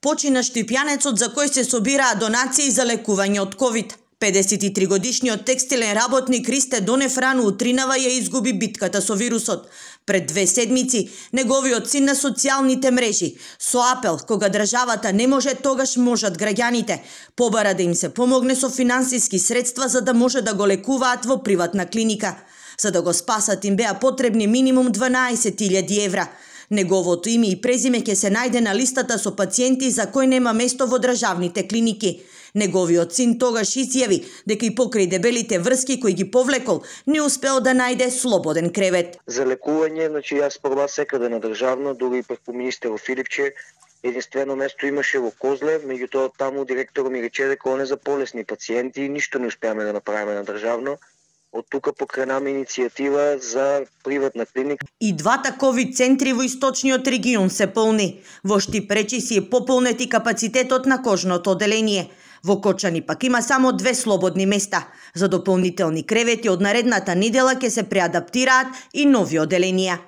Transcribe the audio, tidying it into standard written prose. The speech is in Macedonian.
Почина Штипјанецот за кој се собираа донации за лекување од ковид. 53-годишниот текстилен работник Ристе Донев рано утринава ја изгуби битката со вирусот. Пред 2 седмици, неговиот син на социјалните мрежи, со апел кога државата не може, тогаш можат граѓаните, побара да им се помогне со финансиски средства за да може да го лекуваат во приватна клиника. За да го спасат им беа потребни минимум 12.000 евра. Неговото име и презиме ќе се најде на листата со пациенти за кои нема место во државните клиники. Неговиот син тогаш изјави дека и покрај дебелите врски кои ги повлекол, не успеал да најде слободен кревет. За лекување, јас пробав секаде на државно, дури и преку министерот Филипче, единствено место имаше во Козле, меѓутоа таму директорот ми рече дека он е за полесни пациенти и ништо не успеаме да направиме на државно. Од тука покренаме иницијатива за приватна клиника. И двата ковид центри во источниот регион се полни. Во Штип речиси е пополнет и капацитетот на кожното оделение. Во Кочани пак има само 2 слободни места. За дополнителни кревети од наредната недела ќе се преадаптираат и нови оделенија.